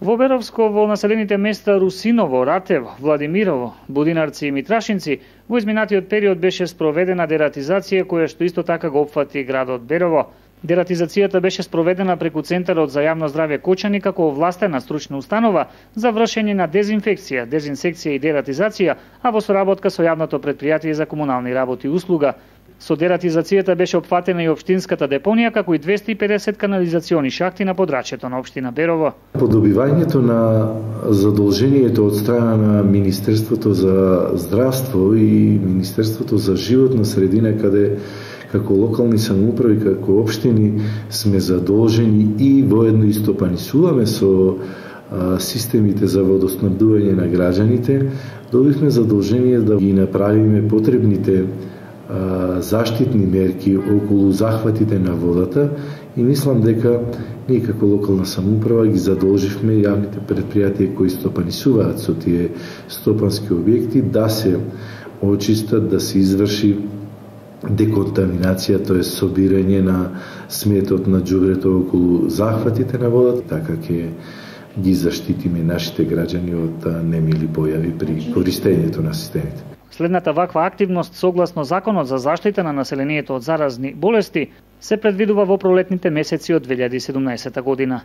Во Беровско, во населените места Русиново, Ратево, Владимирово, Будинарци и Митрашинци, во изминатиот период беше спроведена дератизација која што исто така го опфати градот Берово. Дератизацијата беше спроведена преку Центарот за јавно здравје Кочани како овластена стручна установа за вршење на дезинфекција, дезинсекција и дератизација, а во соработка со јавното предпријатие за комунални работи и услуга. Со дератизацијата беше опфатена и општинската депонија, како и 250 канализациони шахти на подрачјето на општина Берово. По добивањето на задолжението од страна на Министерството за здравство и Министерството за животна средина, каде како локални самоуправи, како општини сме задолжени и воедно истопанисуваме со системите за водоснабдување на граѓаните, добивме задолжение да ги направиме потребните заштитни мерки околу захватите на водата и мислам дека ние како локална самоуправа ги задолживме јавните предпријатија кои стопанисуваат со тие стопански објекти да се очистат, да се изврши деконтаминација, тоа е собирање на сметот на џубрето околу захватите на водата, така ќе ги заштитиме нашите граѓани од немили појави при користењето на системите. Следната ваква активност, согласно Законот за заштита на населението од заразни болести, се предвидува во пролетните месеци од 2017 година.